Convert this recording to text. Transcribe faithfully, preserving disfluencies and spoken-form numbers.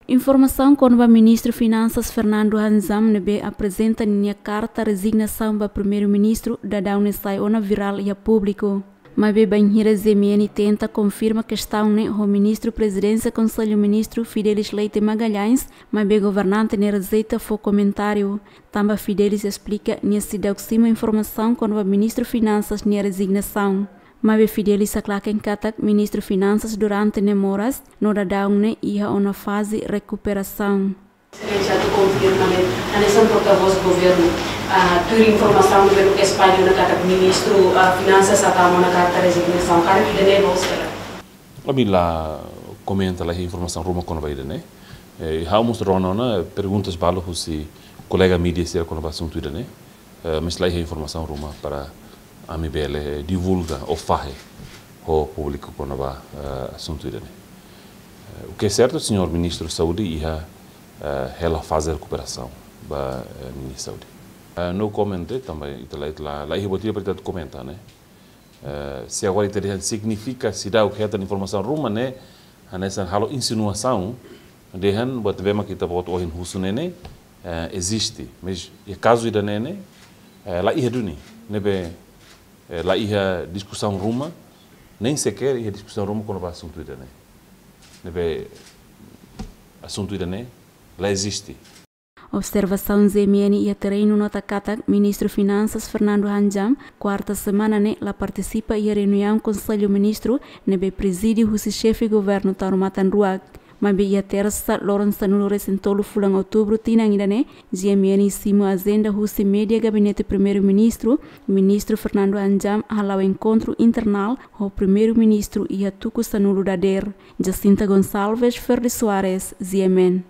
Informasaun kona-ba Ministru Finansas Fernando Hanjam ne'ebé aprezenta ninia karta rezignasaun ba Primeiru-Ministru daudaun ne'e sai ona virál iha públiku. Maibé bainhira G M N tenta konfirma kestaun ne'e ho Ministru Prezidénsia Konsellu Ministru Fidelis Leite Magalhães, maibé governante ne'e rejeita fó komentáriu. Tanba Fidelis esplika nia seidauk simu informasaun kona-ba Ministru Finansas nia rezignasaun. Maibé Fidelis haklaken katak Ministru Finansas durante ne'e moras, no daudaun ne'e iha ona faze rekuperasaun. Exelénsia atu konfirma ne'e, hanesan portavós governu, ah, tuir informasaun ne'ebé espalla ona katak Ministru, ah, Finansas hatama ona karta rezignasaun. Karik ida-ne'e loos ka lae? Ami la komenta, la iha informasaun ruma kona-ba ida-ne'e. Eh, ha'u mós rona ona perguntas balu husi kolega mídia sira kona-ba asuntu ida-ne'e. Eh, mas la iha informasaun ruma para ami bele divulga ou fahe ho públiku kona-ba, eh, asuntu ida-ne'e. Eh, o que é certo, señór Ministru Saúde iha, eh, hela faze rekuperasaun ba, eh, ninia saúde. Eh, no comment, tanba ita la, ita la, la iha buat ida para ita komenta, ne'e. Eh, se agora ita dehan signifika seidauk hetan informasaun ruma ne'e, hanesan halo insinuasaun, dehan buat ne'ebé mak ita-boot ohin husu ne'e ne'e, eh, eziste. Mas iha kazu ida-ne'e ne'e, eh, la iha duni, ne'ebé, eh, la iha diskusaun ruma, nem sequer iha diskusaun ruma kona-ba asuntu ida-ne'e. Ne'ebé asuntu ida-ne'e la eziste. Observasaun G M N iha terrenu nota katak Ministru Finansas Fernando Hanjam, kuarta semana ne'e la partisipa iha reuniaun Konsellu Ministru ne'ebé prezide husi xefe governu Taur Matan Ruak. Maibé iha tersa, loron sanulu-resin-tolu fulan outubru tinan ida-ne'e, G M N simu ajenda husi média Gabinete Primeiru-Ministru, Ministru Fernando Hanjam hala'o enkontru internál ho Primeiru-Ministru iha tuku sanulu dadeer. Jacinta Gonçalves, Ferdi Soares, G M N.